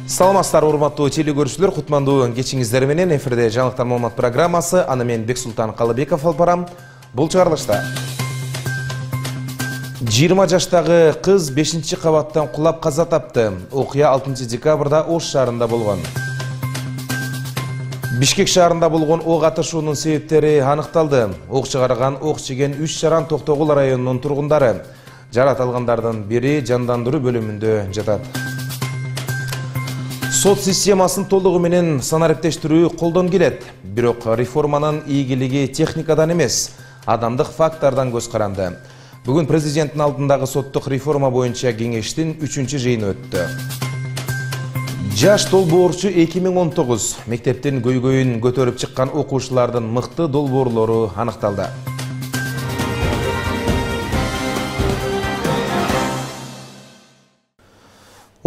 Саламатсыздар, урматтуу телекөрүүчүлөр, кутмандуу кечиңиздер менен эфирде жаңылыктар маалымат программасы. Аны мен Бексултан Калыбеков алып барам. Бул чыгарылышта 20 жаштагы кыз 5-кабаттан кулап каза тапты. Окуя 6 декабрда Ош шаарында болгон. Бишкек шаарында болгон ок атышуунун себептери аныкталды. Ок чыгарган, ок жеген 3 жаран Токтогул районунун тургундары. Жарат алгандардын бири жандандыруу бөлүмүндө жатат. Сот системасын толугу менен санариптештирүү колдон келет. Бирок реформанын ийгилиги техникадан эмес, адамдык фактордон көз каранды. Бүгүн президенттин алдындагы соттук реформа боюнча кеңештин 3-жыйыны өттү. Жаш долбоорчу 2019 мектептин көйгөйүн көтөрүп чыккан окуучулардын мыкты долбоорлору аныкталды.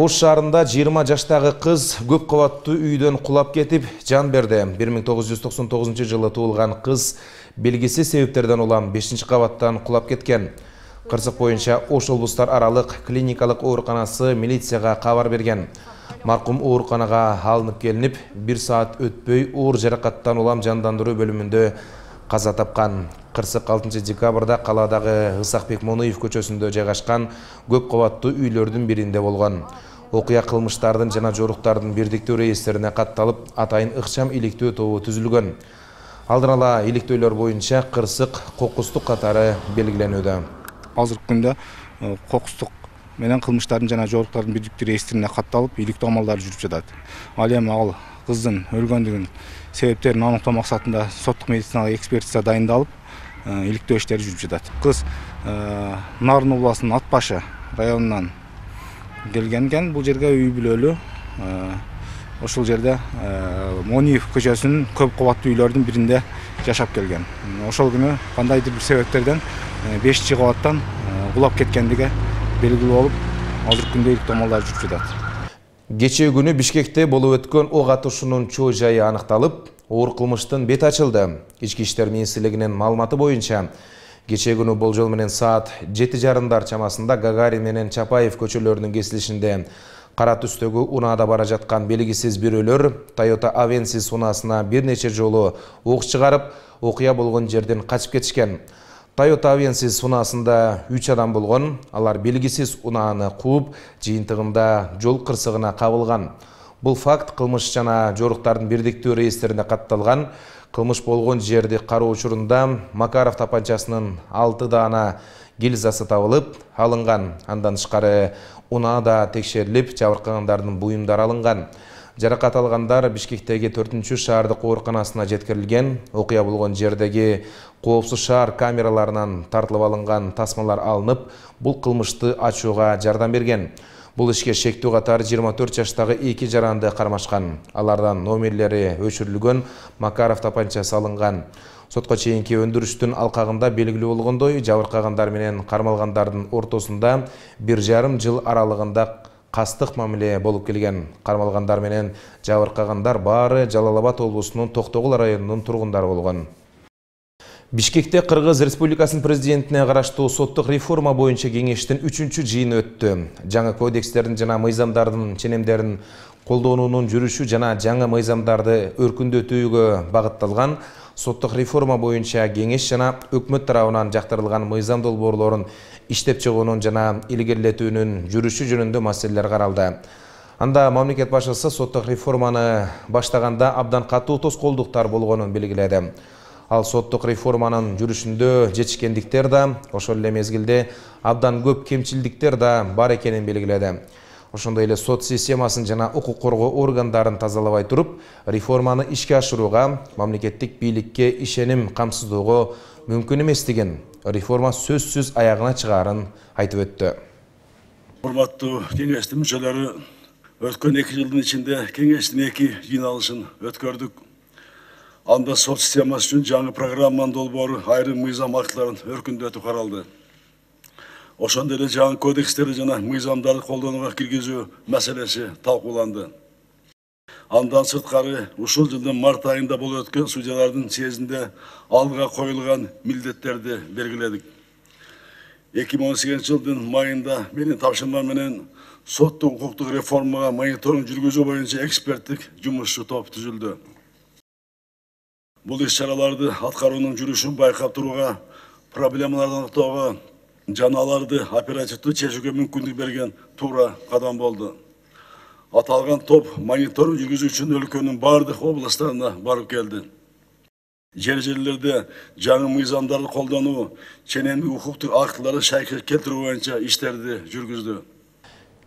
Ош шаарында 20 жаштагы кыз көп кабаттуу үйдөн кулап кетип жан берди. 1999 жылы туулган кыз белгисиз себептерден улам 5-кабаттан кулап кеткен. Кырсык боюнча Ош облустар аралык клиникалык ооруканасы милицияга кабар берген. Маркум ооруканага алынып келинип, 1 саат өтпөй оор жаракаттан улам жандандыруу бөлүмүндө каза тапкан. Кырсык 6 декабрда каладагы Ысакбек Моноев көчөсүндө жайгашкан көп кабаттуу үйлөрдүн биринде болгон. Окуя кылмыштардын жана жоруктардын бирдиктүү реестрине катталып, атайын ыкчам иликтөө тобу түзүлгөн. Алдын ала иликтөөлөр боюнча кырсык кокустук катары белгиленүүдө. Азыркы күндө кокустук менен кылмыштардын жана жоруктардын бирдиктүү реестрине катталып, иликтөө амалдары жүрүп жатат. Ал эми ал кыздын өлгөндүгүн себептерин аныктоо максатында соттук медициналык экспертиза дайындалып, иликтөө иштери жүрүп жатат. Кыз Нарын областынын Атбашы районунан келген экен. Бул жерге үй бүлөлүү. Ошол жерде Мониев көчөсүнүн көп кабаттуу үйлөрдүн биринде жашап келген. Ошол күнү кандайдыр бир себептерден 5-кабаттан кулап кеткендиги белгилүү болуп, азыркы күндө иликтөө амалдары жүрүп жатат. Кечээ күнү Бишкекте болуп өткөн ок атышуунун чоо жайы аныкталып, оор кылмыштын бети ачылды. Ички иштер министрлигинин маалыматы боюнча, кечээ күнү болжол менен саат 7:30 чамасында Гагарин менен Чапаев көчөлөрүнүн кесилишинде кара түстөгү унаада бара жаткан белгисиз бирөөлөр Toyota Avensis унаасына бир нече жолу ок чыгарып, окуя болгон жерден качып кетишкен. Toyota Avensis унаасында 3 адам болгон. Алар белгисиз унааны кууп, жыйынтыгында жол кырсыгына кабылган. Бул факт кылмыш жана жоруктардын бирдиктүү реестрине катталган. Кылмыш болгон жерди кароо учурунда Макаров тапанчасынын 6 даана гильзасы табылып алынган. Андан тышкары унаада текшерилип, жабыркагандардын буюмдары алынган. Жаракат алгандар Бишкектеги 4-шаардык ооруканасына жеткирилген. Окуя болгон жердеги коопсуз шаар камераларынан тартылып алынган тасмалар алынып, бул кылмышты ачууга жардам берген. Бул ишке шектүү катары 24 жаштагы 2 жаранды кармашкан. Алардан номерлери өчүрүлгөн, Макаров тапанчасы алынган. Сотко чейинки өндүрүштүн алкагында белгилүү болгондой, жабыркагандар менен кармалгандардын ортосунда 1,5 жыл аралыгында кастык мамиле болуп келген. Кармалгандар менен жабыркагандар баары Жалал Абад облусунун Токтогул районунун тургундары болгон. Бишкекте Кыргыз Республикасынын президентине караштуу соттук реформа боюнча кеңештин 3-жыйыны өттү. Жаңы кодекстердин жана мыйзамдардын ченемдерин колдонуунун жүрүшү жана жаңы мыйзамдарды өркүндөтүүгө багытталган соттук реформа боюнча кеңеш жана өкмөт тарабынан жактырылган мыйзам долбоорлорун иштеп чыгуунун жана илгерилетүүнүн жүрүшү жөнүндө маселелер каралды. Анда мамлекет башчысы соттук реформаны баштаганда абдан катуу тоскоолдуктар болгонун белгиледи. Ал соттук реформанын жүрүшүндө жетишкендиктер да, ошол эле мезгилде абдан көп кемчилдиктер да бар экенин белгиледи. Ошондой эле сот системасын жана укук коргоо органдарын тазалабай туруп, реформаны ишке ашырууга, мамлекеттик бийликке ишеним камсыздоого мүмкүн эместигин, реформа сөзсүз аягына чыгаарын айтып өттү. Урматтуу кеңештин мүчөлөрү, өткөн 2 жылдын ичинде кеңештин 2 жыйналышын өткөрдүк. Анда сот системасы үчүн жаңы программанын долбоору айрым мыйзам актыларын өркүндөтүү каралды. Ошондой эле жаңы кодекстерди жана мыйзамдарды колдонууга киргизүү маселеси талкууланды. Андан сырткары ушул жылдын март айында болуп өткөн судьялардын съездинде алга коюлган милдеттерди белгиледик. 2018 жылдын майында менин тапшырма менен соттук укуктук реформага мониторинг жүргүзүү боюнча эксперттик жумушчу топ түзүлдү. Бул иш-чараларды аткаруунун жүрүшүн байкап турууга, проблемаларды аныктоого жана аларды оперативдүү чечүүгө мүмкүндүк берген туура кадам болду. Аталган топ мониторинг жүргүзүү үчүн өлкөнүн бардык областтарына барып келди. Жер-жерлерде жаңы мыйзамдарды колдонуу, ченемдик укуктук актыларды шайкы келтирүү боюнча иштерди жүргүздү.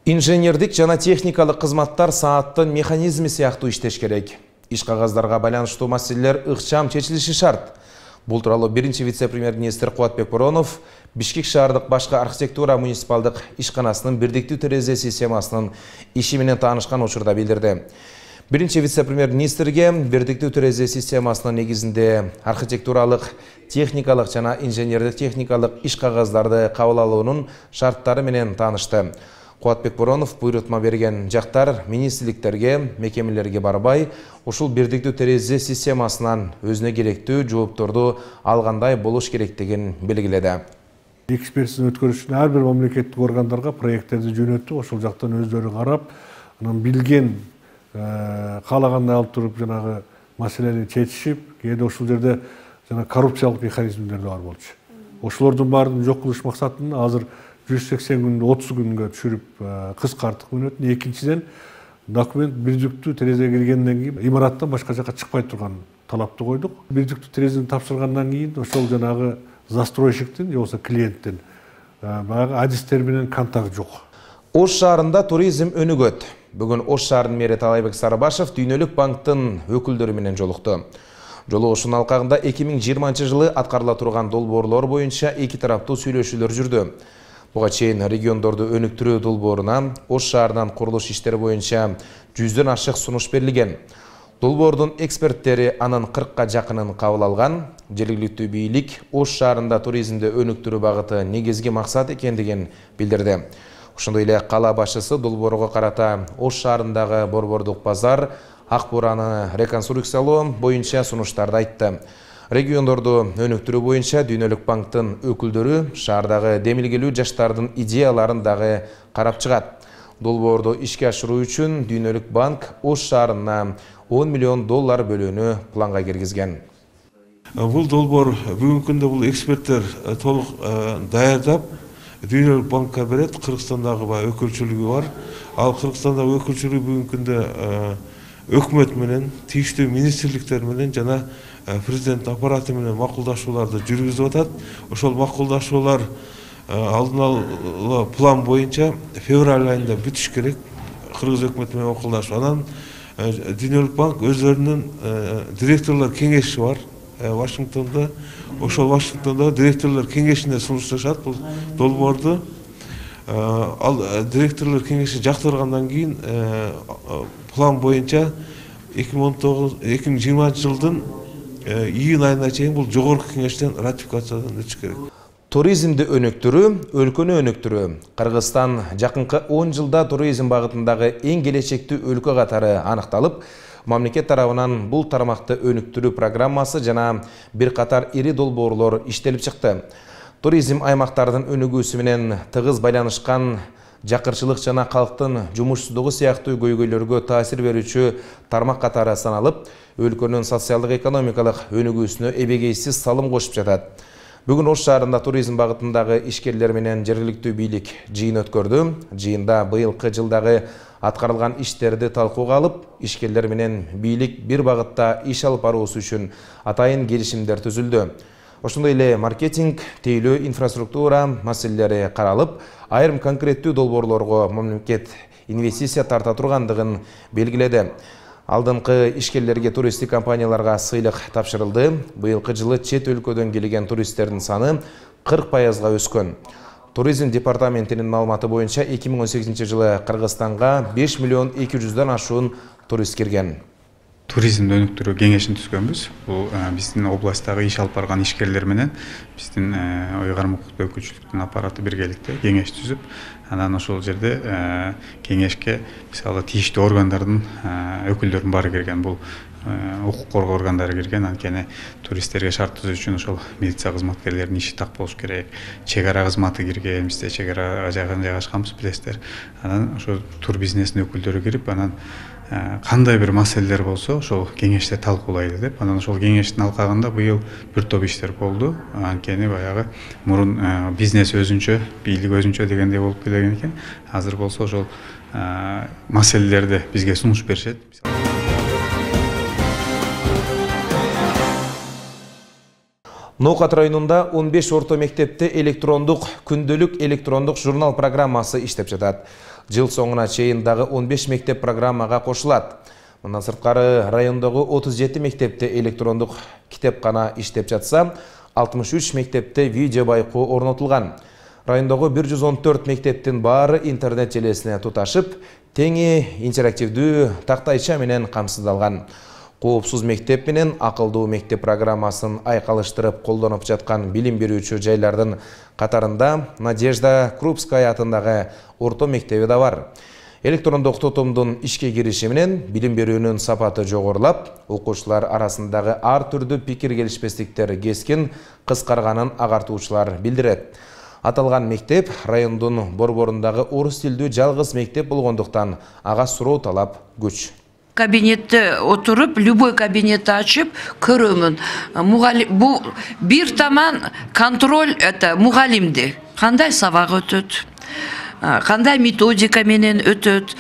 Инженердик жана техникалык кызматтар сааттын механизми сыяктуу иштеш керек. Иш кагаздарга байланыштуу маселелер ыкчам чечилиши шарт. Бул тууралуу биринчи вице-премьер-министр Кубатбек Боронов Бишкек шаардык башкы архитектура муниципалдык ишканасынын бирдиктүү терезе системасынын иши менен таанышкан учурда билдирди. Биринчи вице-премьер-министрге бирдиктүү терезе системасынын негизинде архитектуралык, техникалык жана инженердик техникалык иш кагаздарды кабыл алуунун шарттары менен таанышты. Кубатбек Боронов буйрутма берген жактар министрликтерге, мекемелерге барбай, ушул бирдиктүү терезе системасынан өзүнө керектүү жоопторду алгандай болуш керектигин белгиледи. Экспертизаны өткөрүш үчүн ар бир мамлекеттик органдарга проекттерди жөнөттү, ошол жактан өздөрү карап, анан билген каалагандай алып туруп жанагы маселени чечишип, кээде ошол жерде жана коррупциялык механизмдер да бар болчу. Ошолордун баарын жок кылыш максатында азыр 180 күндү 30 күнгө түшүрүп кыскарттык мүнөтүн. Экинчиден, документ бирдиктүү терезеге киргенден кийин имараттан башка жака чыкпай турган талапты койдук. Бирдиктүү терезени тапшыргандан кийин ошол жанагы застройщиктин же болбосо клиенттин баягы адистер менен контакт жок. Ош шаарында туризм өнүгөт. Бүгүн Ош шаарынын мэри Талайбек Сарыбашев Дүйнөлүк банктын өкүлдөрү менен жолукту. Жолугушуунун алкагында 2020 жылы аткарыла турган долбоорлор боюнча эки тараптуу сүйлөшүүлөр жүрдү. Буга чейин региондорду өнүктүрүү долбооруна Ош шаарынын курулуш иштери боюнча 100дөн ашык сунуш берилген. Долбоордун эксперттери анын 40ка жакынын кабыл алган. Жергиликтүү бийлик Ош шаарында туризмди өнүктүрүү багыты негизги максат экендигин билдирди. Ошондой эле кала башчысы долбоорго карата Ош шаарындагы борбордук базар, ак буураны реконструкциялоо боюнча сунуштарды айтты. Региондорду өнүктүрүү боюнча Дүйнөлүк банктын өкүлдөрү шаардагы демилгелүү жаштардын идеяларын дагы карап чыгат. Долбоорду ишке ашыруу үчүн Дүйнөлүк банк Ош шаарына $10 миллион бөлүүнү планга киргизген. Бул долбоор бүгүнкү күндө бул эксперттер толук даярдап Дүйнөлүк банкка берет. Кыргызстандагы өкүлчүлүгү бар. Ал Кыргызстандагы өкүлчүлүгү бүгүнкү күндө өкмөт менен, тийиштүү министрликтер менен жана президент аппараты менен макулдашууларды жүргүзүп атат. Ошол макулдашуулар алдын ала план боюнча февраль айында бүтүш керек. Кыргыз өкмөтү менен макулдашып, анан Дүйнөлүк банк өзлөрүнүн директорлор кеңеши бар Вашингтондо. Ошол Вашингтондо директорлор кеңешине сунушташат бул долбоорду. Ал директорлор кеңеши жактыргандан кийин план боюнча 2020 жылдын июнь айына чейин бул жогорку кеңештен ратификациядан өтүш керек. Туризмди өнүктүрүү, өлкөнү өнүктүрүү. Кыргызстан жакынкы 10 жылда туризм багытындагы эң келечектүү өлкө катары аныкталып, мамлекет тарабынан бул тармакты өнүктүрүү программасы жана бир катар ири долбоорлор иштелип чыкты. Туризм аймактардын өнүгүүсү менен тыгыз байланышкан жакырчылык жана калктын жумушсуздугу сыяктуу көйгөйлөргө таасир берүүчү тармак катары саналып, өлкөнүн социалдык экономикалык өнүгүүсүнө эбегейсиз салым кошуп жатат. Бүгүн Ош шаарында туризм багытындагы ишкерлер менен жергиликтүү бийлик жыйын өткөрдү. Жыйында быйылкы жылдагы аткарылган иштерди талкууга алып, ишкерлер менен бийлик бир багытта иш алып баруусу үчүн атайын келишимдер түзүлдү. Ошондой эле маркетинг, тейлөө, инфраструктура маселелери каралып, айрым конкреттүү долбоорлорго мамлекет инвестиция тарта тургандыгын белгиледи. Алдыңкы ишкерлерге туристтик компанияларга сыйлык тапшырылды. Быйылкы жылы чет өлкөдөн келген туристтердин саны 40%га өскөн. Туризм департаментинин маалыматы боюнча 2018 жылы Кыргызстанга 5 миллион 200дөн ашуун турист кирген. Туризмди өнүктүрүү кеңешин түзгөнбүз. Бул биздин областтагы иш алып барган ишкерлер менен биздин Ойгарым укуктуу өкүлчүлүктүн аппараты биргеликте кеңеш түзүп, анан ошол жерде кеңешке мисалы тийиштүү органдардын өкүлдөрүнүн баары кирген. Бул укук коргоо органдары кирген. Анткени туристтерге шарт түзүү үчүн ошол милиция кызматкерлеринин иши так болуш керек. Чек ара кызматы кирген, бизде чек арага жайгашканбыз, билесиздер. Анан ошо тур бизнесинин өкүлдөрү кирип, анан кандай бир маселелер болсо ошол кеңеште талкуулайлы деп. Анан ошол кеңештин алкагында быйыл бир топ иштер болду. Анткени баягы мурун бизнес өзүнчө, бийлик өзүнчө дегендей болуп келген экен. Азыр болсо ошол маселелерди бизге сунуш беришет. Ноокат районунда 15 орто мектепте күндөлүк электрондук журнал программасы иштеп жатат. Жыл соңуна чейин дагы 15 мектеп программага кошулат. Мындан сырткары райондогу 37 мектепте электрондук китепкана иштеп жатса, 63 мектепте видео байкоо орнотулган. Райондогу 114 мектептин баары интернет желесине туташып, теңи интерактивдүү тактайча менен камсыздалган. Коопсуз мектеп менен акылдуу мектеп программасын айкалыштырып колдонуп жаткан билим берүүчү жайлардын катарында Надежда Крупская атындагы орто мектеби да бар. Электрондук тотумдун ишке кириши менен билим берүүнүн сапаты жогорулап, окуучулар арасындагы ар түрдүү пикир келишпестиктер кескин кыскарганын агартуучулар билдирет. Аталган мектеп райондун борборундагы орус тилдүү жалгыз мектеп болгондуктан ага суроо талап күч. Кабинетте отуруп, любой кабинетти ачып көрөмүн. Бу бир таман контроль мугалимди. Кандай сабак өтөт? Кандай методика менен өтөт?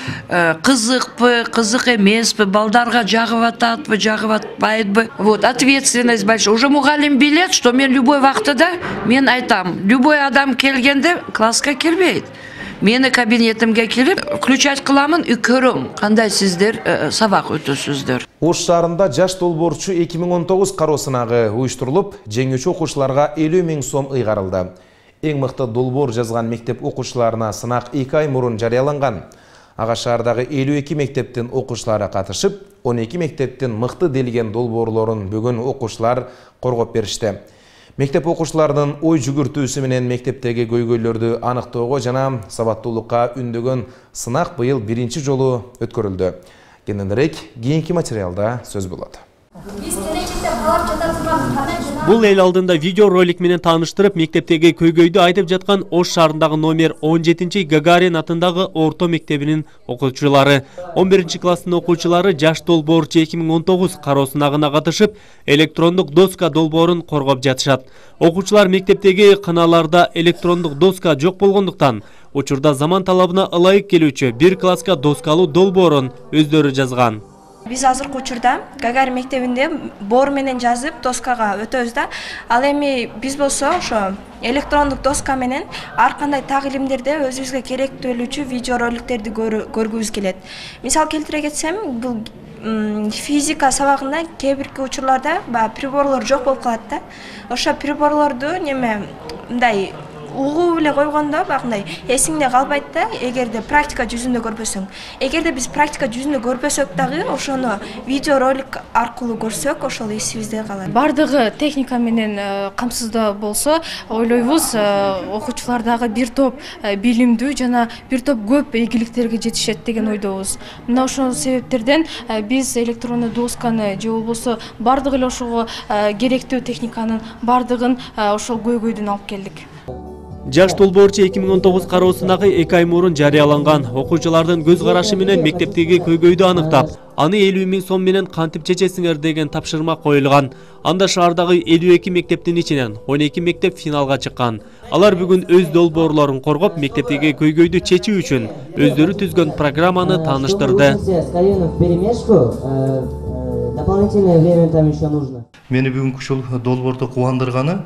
Кызыкпы, кызык эмеспи? Балдарга жагып ататпы, жагып атпайбы? Вот, ответственность большая. Уже мугалим билет, что мен любой вактыда мен айтам. Любой адам келгенде класска кирбейт. Мени кабинетимге кирип, включать кыламын, көрөм, кандай сиздер сабак өтөсүздөр. Ош шаарында жаш долбоорчу 2019 кароо сынагы уюштурулуп, жеңүүчү окуучуларга 50 000 сом ыйгарылды. Эң мыкты долбоор жазган мектеп окуучуларына сынак 2 ай мурун жарыяланган. Ага шаардагы 52 мектептин окуучулары катышып, 12 мектептин мыкты делген долбоорлорун бүгүн окуучулар коргоп беришти. Мектеп окуучуларынын ой жүгүртүүсү менен мектептеги көйгөйлөрдү аныктоого жана сабаттуулукка үндөгөн сынак быйыл биринчи жолу өткөрүлдү. Кененирээк кийинки материалда сөз болот. Бул эл алдында видео ролик менен тааныштырып, мектептеги көйгөйдү айтып жаткан Ош шаарындагы номер 17 Гагарин атындагы орто мектебинин окуучулары. 11 класстын окуучулары жаш долбоорчу 2019 кароо сынагына катышып, электрондук доска долбоорун коргоп жатышат. Окуучулар мектептеги кыналарда электрондук доска жок болгондуктан, учурда заман талабына ылайык келүүчү бир класска доскалуу долбоорун өздөрү жазган. Биз азыркы учурда Гагарин мектебинде боор менен жазып доскага өтөбүз да. Ал эми биз болсо ошо электрондук доска менен ар кандай тагилимдерде өзүбүзгө керектүү болуучу видео роликтерди көргүбүз келет. Мисал келтире кетсем, бул физика сабагында кээ бирки учурларда приборлор жок болуп калат да. Ошо приборлорду мындай угуу эле койгондо багындай эсиңде калбайт да, эгерде практика жүзүндө көрбөсөң. Эгерде биз практика жүзүндө көрбөсөк дагы, ошону видео ролик аркылуу көрсөк, ошол эсибизде калат. Бардыгы техника менен камсыздоо болсо, ойлойбуз, окуучулар дагы бир топ билимдүү жана бир топ көп ийгиликтерге жетишет деген ойдобуз. Мына ошол себептерден биз электрондуу досканы же болбосо бардыгы эле ошого керектүү техниканын бардыгын ошол көйгөйдөн алып келдик. Жаш долбоорчу 2019 кароо сынагы 2 ай мурун жарыяланган. Окуучулардын көз карашы менен мектептеги көйгөйдү аныктап, аны 50 000 сом менен кантип чечесиңер деген тапшырма коюлган. Анда шаардагы 52 мектептин ичинен 12 мектеп финалга чыккан. Алар бүгүн өз долбоорлорун коргоп, мектептеги көйгөйдү чечүү үчүн өздөрү түзгөн программаны тааныштырды. Мени бүгүнкү ушул долбоордо кубандырганы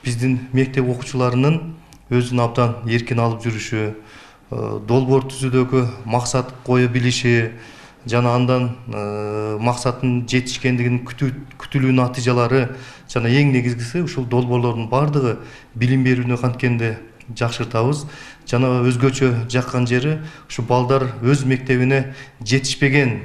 биздин мектеп окуучуларынын өзүн абдан эркин алып жүрүшү, долбоор түзүүдөгү максат кое билиши жана андан максаттын жетишкендигинин күтүлүү натыйжалары жана эң негизгиси ушул долбоорлордун бардыгы билим берүүнү канткенде жакшыртабыз. Жана өзгөчө жаккан жери ушу балдар өз мектебине жетишпеген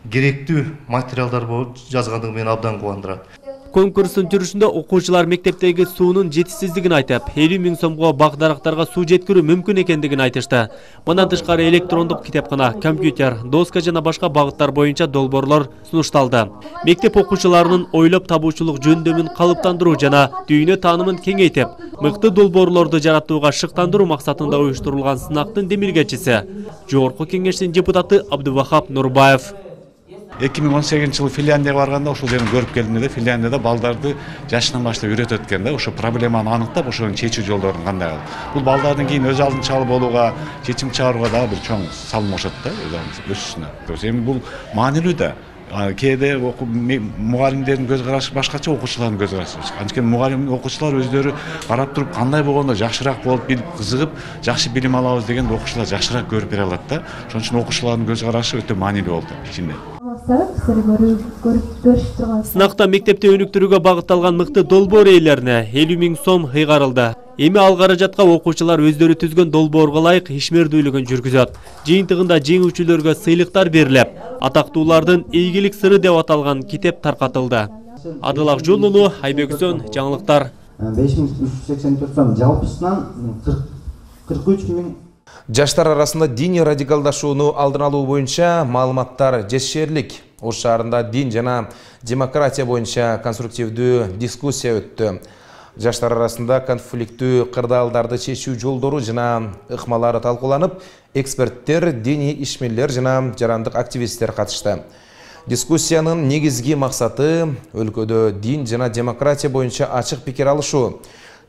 керектүү материалдар болуп жазгандыгы мени абдан кубандырат. Конкурстун жүрүшүндө окуучулар мектептеги суунун жетишсиздигин айтып, 50 000 сомго бак-дарактарга суу жеткирүү мүмкүн экендигин айтышты. Мындан тышкары электрондук китепкана, компьютер, доска жана башка багыттар боюнча долбоорлор сунушталды. Мектеп окуучуларынын ойлоп табуучулук жөндөмүн калыптандыруу жана дүйнө таанымын кеңейтип, мыкты долбоорлорду жаратууга шыктандыруу максатында уюштурулган сынактын демилгечиси Жогорку Кеңештин депутаты Абдувахап Нурбаев. 2018 жылы Финляндияга барганда ошол жерин көрүп келдим да, Финляндияда балдарды жашынан баштап үйрөтөт экен да, ошо проблеманы аныктап, ошонун чечүү жолдорун кандай кылып. Бул балдардын кийин өз алдынчалуу болууга, чечим чыгарууга дагы бир чоң салым кошот да, өсүшүнө. Эми бул маанилүү да. Кээде мугалимдердин көз карашы башкача, окуучулардын көз карашы башка. Анткени мугалим окуучулар өздөрү карап туруп кандай болгондо жакшыраак болуп, кызыгып, жакшы билим алабыз дегенде окуучулар жакшыраак көрүп бере алат да. Ошон үчүн окуучулардын көз карашы өтө маанилүү болду ичинде. Сынакта мектепте өнүктүрүүгө багытталган мыкты долбоор ээлерине 50 000 сом ыйгарылды. Эми ал каражатка окуучулар өздөрү түзгөн долбоорго ылайык ишмердүүлүгүн жүргүзөт. Жыйынтыгында жеңүүчүлөргө сыйлыктар берилип, атактуулардын ийгилик сыры деп аталган китеп таркатылды. Адыл Акжолулу, Айбексөн, жаңылыктар. 5384 сом, жалпысынан 43 000. Жаштар арасында диний радикалдашууну алдын алуу боюнча маалыматтар жетишерлик. Ош шаарында дин жана демократия боюнча конструктивдүү дискуссия өттү. Жаштар арасында конфликттүү кырдаалдарды чечүү жолдору жана ыкмалары талкууланып, эксперттер, диний ишмерлер жана жарандык активисттер катышты. Дискуссиянын негизги максаты өлкөдө дин жана демократия боюнча ачык пикир алышуу.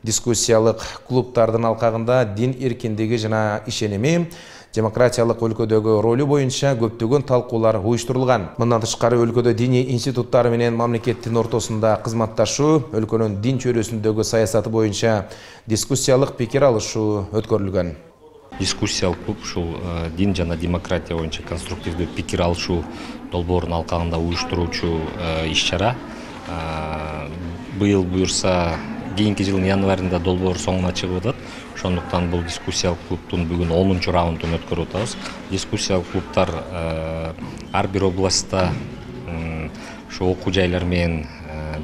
Дискуссиялык клубтардын алкагында дин эркиндиги жана ишеними, демократиялык өлкөдөгү ролу боюнча көптөгөн талкуулар уюштурулган. Мындан тышкары өлкөдө диний институттар менен мамлекеттин ортосунда кызматташуу, өлкөнүн дин чөйрөсүндөгү саясаты боюнча дискуссиялык пикир алышуу өткөрүлгөн. Дискуссиялык клуб ушул дин жана демократия боюнча конструктивдүү пикир алышуу долбоорунун алкагында уюштуруучу иш-чара. Быйыл буюрса кийинки жылдын январында долбоор соңуна чыгып атат. Ошондуктан бул дискуссиялык клубтун бүгүн 10-чу раундун өткөрүп атабыз. Дискуссиялык клубтар ар бир областта ошо окуу жайлар менен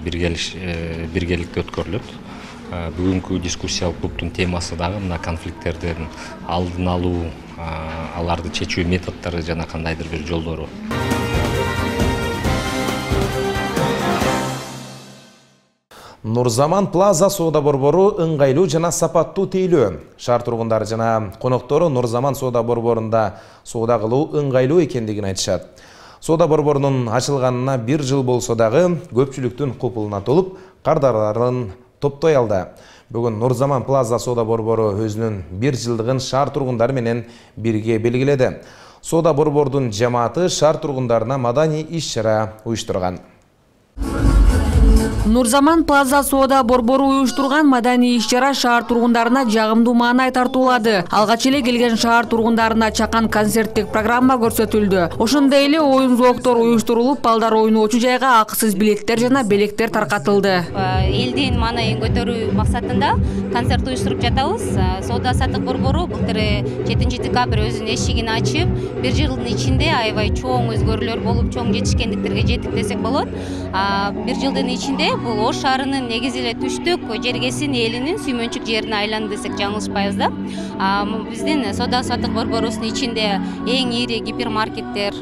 биргеликте өткөрүлөт. Бүгүнкү дискуссиялык клубтун темасы дагы мына конфликттердин алдын алуу, аларды чечүү методдору жана кандайдыр бир жолдору. Нурзаман Плаза соода борбору ыңгайлуу жана сапаттуу тейлөө. Шаар тургундары жана коноктору Нурзаман соода борборунда соода кылуу ыңгайлуу экендигин айтышат. Соода борборунун ачылганына 1 жыл болсо дагы көпчүлүктүн купулуна толуп, кардарларын топтой алды. Бүгүн Нурзаман Плаза соода борбору өзүнүн 1 жылдыгын шаар тургундары менен бирге белгиледи. Соода борбордун жамааты шаар тургундарына маданий иш-чара уюштурган. Нурзаман Плаза соода борбору уюштурган маданий иш-чара шаар тургундарына жагымдуу маанай тартуулады. Алгач эле келген шаар тургундарына чакан концерттик программа көрсөтүлдү. Ошондой эле оюн-зооктор уюштурулуп, балдар ойноочу жайга акысыз билеттер жана белектер таркатылды. Элдин маанайын көтөрүү максатында концерт уюштуруп жатабыз. Соода саттык борбору былтыр 7 декабрь өзүнүн эшигин ачып, 1 жылдын ичинде аябай чоң өзгөрүүлөр болуп, чоң жетишкендиктерге жеттик десек болот. 1 жылдын ичинде бул Ош шаарынын негизи эле түштүк жергесин элинин сүймөнчүк жерине айланды десек жаңылышпайбыз да. Биздин соода саттык борборубуздун ичинде эң ири гипермаркеттер,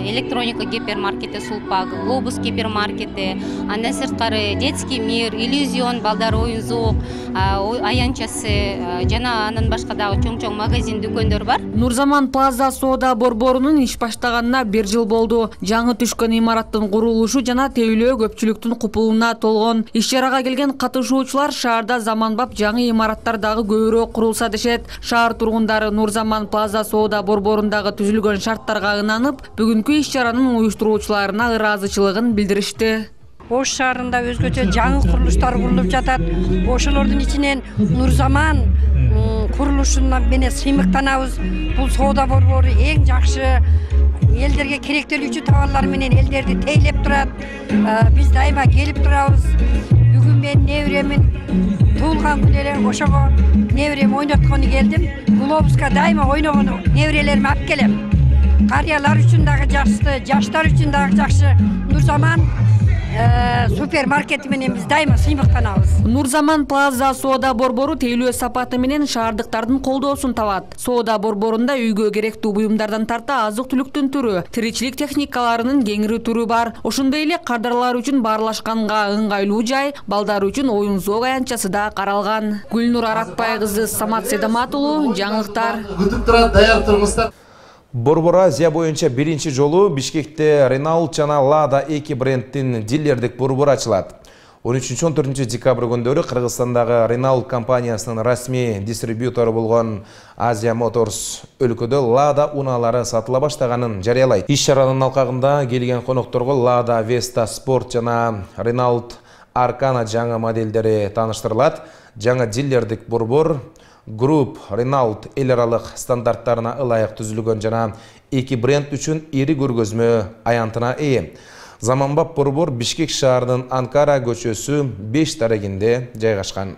электроника гипермаркети Сулпак, Глобус гипермаркети, андан сырткары детский мир, иллюзион, балдар оюн зоок, аянчасы жана андан башка дагы чоң-чоң магазин дүкөндөр бар. Нурзаман Плаза соода борборунун иш баштаганына 1 жыл болду. Жаңы түшкөн имараттын курулушу жана тейлөө көпчүлүктүн купулуна толгон. Иш-чарага келген катышуучулар шаарда заманбап жаңы имараттар дагы көбүрөөк курулса дешет. Шаар тургундары Нурзаман Плаза соода борборундагы түзүлгөн шарттарга ынанып, бүгүнкү иш-чаранын уюштуруучуларына ыраазычылыгын билдиришти. Ош шаарында өзгөчө жаңы курулуштар курулуп жатат. Ошолордун ичинен Нурзаман курулушуна менен сыймыктанабыз. Бул соода борбору эң жакшы элдерге керектелүүчү товарлар менен элдерди тейлеп турат. Биз дайыма келип турабыз. Бүгүн мен неберемин туулган күнү эле ошого неберем ойноткону келдим. Глобуска дайыма ойногону неберелериме алып келем. Карыялар үчүн дагы жакшы, жаштар үчүн дагы жакшы. Нурзаман супермаркети менен биз дайыма сыймыктанабыз. Нурзаман Плаза соода борбору тейлөө сапаты менен шаардыктардын колдоосун табат. Соода борборунда үйгө керектүү буюмдардан тарта азык-түлүктүн түрү, тиричилик техникаларынын кеңири түрү бар. Ошондой эле кардарлар үчүн баарлашканга ыңгайлуу жай, балдар үчүн оюн-зоок аянтчасы да каралган. Гүлнур Аратбай кызы, Самат Седамат уулу, жаңылыктар. Күтүп турат, даяр турмуздар. Борбор Азия боюнча биринчи жолу Бишкекте Renault жана Lada 2 брендтин дилердик борбору ачылат. 13-14 декабрь күндөрү Кыргызстандагы Renault компаниясынын расмий дистрибьютору болгон Asia Motors өлкөдө Lada унаалары сатыла баштаганын жарыялайт. Иш-чаранын алкагында келген конокторго Lada Vesta Sport жана Renault Arcana жаңы моделдери тааныштырылат. Жаңы дилердик борбор Group Renault эл аралык стандарттарына ылайык түзүлгөн жана эки бренд үчүн ири көргөзмө аянтына ээ. Заманбап борбор Бишкек шаарынын Анкара көчөсү 5 дарегинде жайгашкан.